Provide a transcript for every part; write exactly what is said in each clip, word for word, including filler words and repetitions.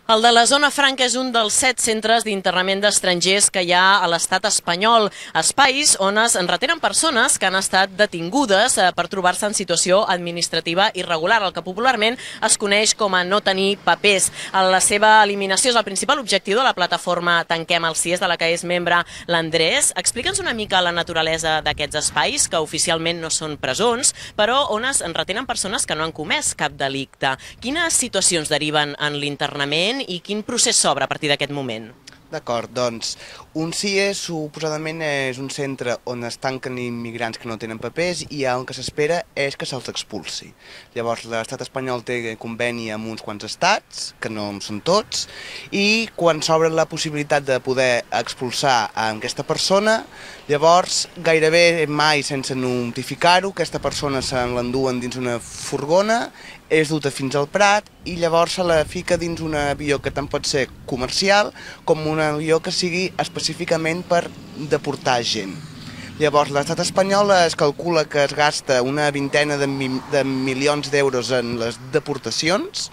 El de la Zona Franca és un dels set centres d'internament d'estrangers que hi ha a l'estat espanyol, espais on es retenen persones que han estat detingudes per trobar-se en situació administrativa irregular, el que popularment es coneix com a no tenir papers. La seva eliminació és el principal objectiu de la plataforma Tanquem el C I E S, de la que és membre l'Andrés. Explica'ns una mica la naturalesa d'aquests espais, que oficialment no són presons, però on es retenen persones que no han comès cap delicte. Quines situacions deriven en l'internament i quin procés s'obre a partir d'aquest moment? D'acord, doncs, un C I E S suposadament és un centre on es tanquen immigrants que no tenen papers i el que s'espera és que se'ls expulsi. Llavors, l'estat espanyol té conveni amb uns quants estats, que no són tots, i quan s'obre la possibilitat de poder expulsar a aquesta persona, llavors, gairebé mai sense notificar-ho, aquesta persona se l'enduen dins una furgona, és duta fins al Prat i llavors se la fica dins un avió que tant pot ser comercial com un avió que sigui específicament per deportar gent. Llavors l'estat espanyol es calcula que es gasta una vintena de, mi de milions d'euros en les deportacions,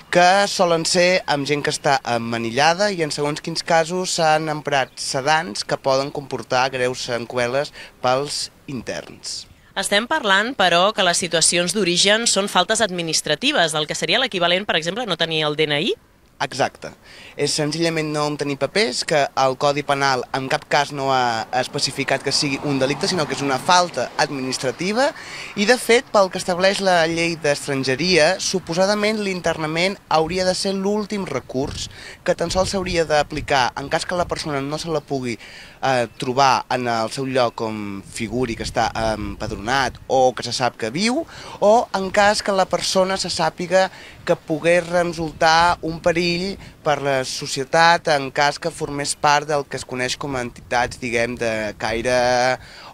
que solen ser amb gent que està emmanillada i en segons quins casos s'han emprat sedants que poden comportar greus seqüeles pels interns. Estem parlant, però, que les situacions d'origen són faltes administratives, el que seria l'equivalent, per exemple, a no tenir el D N I? Exacte. És senzillament no tenir papers, que el Codi Penal en cap cas no ha especificat que sigui un delicte, sinó que és una falta administrativa i, de fet, pel que estableix la llei d'estrangeria, suposadament l'internament hauria de ser l'últim recurs que tan sols s'hauria d'aplicar en cas que la persona no se la pugui eh, trobar en el seu lloc com figuri que està empadronat o que se sap que viu, o en cas que la persona se sàpiga que pogués resultar un perill per la societat en cas que formés part del que es coneix com a entitats, diguem, de caire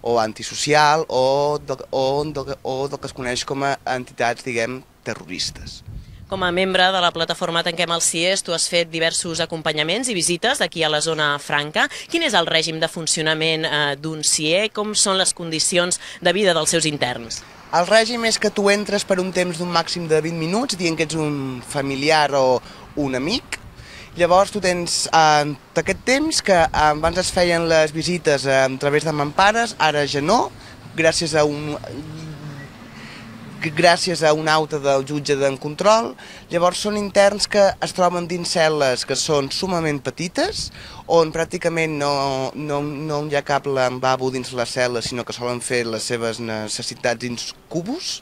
o antisocial o, de, o, de, o del que es coneix com a entitats, diguem, terroristes. Com a membre de la plataforma Tanquem el C I E S, tu has fet diversos acompanyaments i visites aquí a la Zona Franca. Quin és el règim de funcionament d'un C I E? Com són les condicions de vida dels seus interns? El règim és que tu entres per un temps d'un màxim de vint minuts, dient que ets un familiar o un amic. Llavors tu tens eh, aquest temps que eh, abans es feien les visites eh, a través de mampares, ara ja no, gràcies a un... gràcies a una auta del jutge d'en control. Llavors són interns que es troben dins cel·les que són sumament petites, on pràcticament no, no, no hi ha cap lavabo dins la cel·la, sinó que solen fer les seves necessitats dins cubos.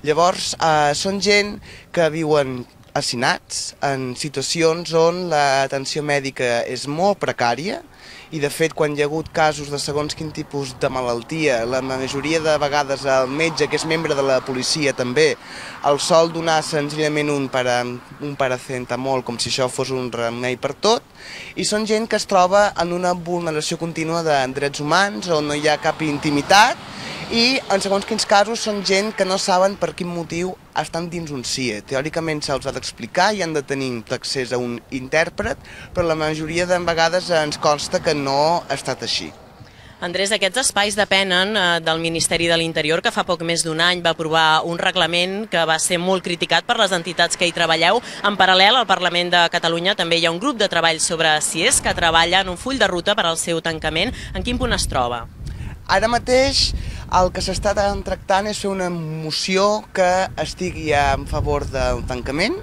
Llavors eh, són gent que viuen hacinats en situacions on l'atenció mèdica és molt precària, i de fet quan hi ha hagut casos de segons quin tipus de malaltia, la majoria de vegades el metge, que és membre de la policia també, el sol donar senzillament un, para, un paracetamol com si això fos un remei per tot, i són gent que es troba en una vulneració contínua de drets humans on no hi ha cap intimitat i en segons quins casos són gent que no saben per quin motiu estan dins un C I E. Teòricament se'ls ha d'explicar i han de tenir accés a un intèrpret, però la majoria de vegades ens consta que no ha estat així. Andrés, aquests espais depenen del Ministeri de l'Interior, que fa poc més d'un any va aprovar un reglament que va ser molt criticat per les entitats que hi treballeu. En paral·lel, al Parlament de Catalunya també hi ha un grup de treball sobre C I E S que treballa en un full de ruta per al seu tancament. En quin punt es troba? Ara mateix el que s'està tractant és fer una moció que estigui en favor del tancament,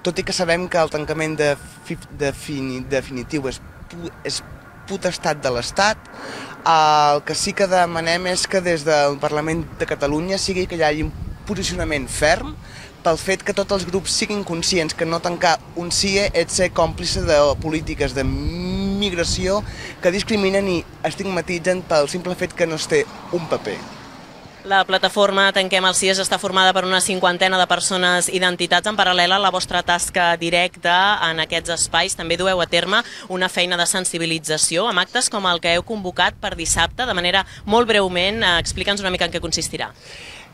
tot i que sabem que el tancament definitiu és, és potestat de l'Estat. El que sí que demanem és que des del Parlament de Catalunya sigui que hi hagi un posicionament ferm pel fet que tots els grups siguin conscients que no tancar un C I E és ser còmplice de polítiques de migració que discriminen i estigmatitzen pel simple fet que no es té un paper. La plataforma Tanquem el C I E S està formada per una cinquantena de persones i d'entitats. En paral·lel a la vostra tasca directa en aquests espais, també dueu a terme una feina de sensibilització amb actes com el que heu convocat per dissabte. De manera molt breument, explica'ns una mica en què consistirà.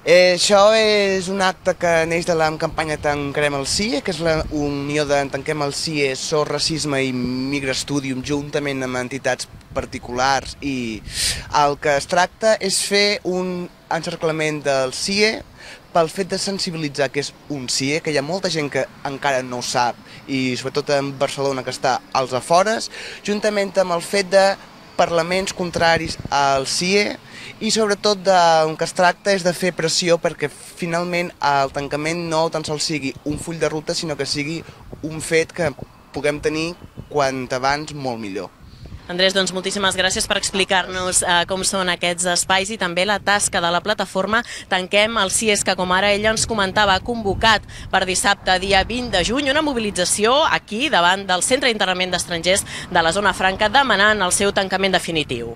Eh, això és un acte que neix de la campanya Tanquem el C I E, que és la unió de Tanquem el C I E, So Racisme i Migrastudium, juntament amb entitats particulars, i el que es tracta és fer un encerclament del C I E pel fet de sensibilitzar que és un C I E, que hi ha molta gent que encara no ho sap, i sobretot en Barcelona, que està als afores, juntament amb el fet de parlaments contraris al C I E, i sobretot del que es tracta és de fer pressió perquè finalment el tancament no tan sols sigui un full de ruta, sinó que sigui un fet que puguem tenir quant abans molt millor. Andrés, doncs moltíssimes gràcies per explicar-nos eh, com són aquests espais i també la tasca de la plataforma Tanquem el C I E S, que com ara ella ens comentava, ha convocat per dissabte, dia vint de juny, una mobilització aquí davant del Centre d'Internament d'Estrangers de la Zona Franca demanant el seu tancament definitiu.